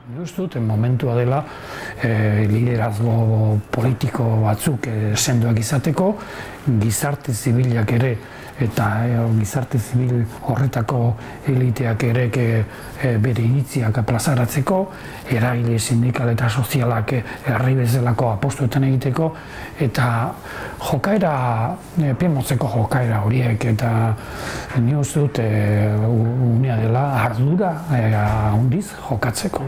Uste dut, momentua dela liderazgo politiko batzuk sendoak izateko, gizarte zibilak ere eta gizarte zibil horretako eliteak ere bere iritziak plazaratzeko, eragile sindikal eta sozialak herri bezalako apostuetan egiteko, eta jokaera, piemotzeko jokaera horiek, eta ni uste dut unea dela ardura handiz jokatzeko.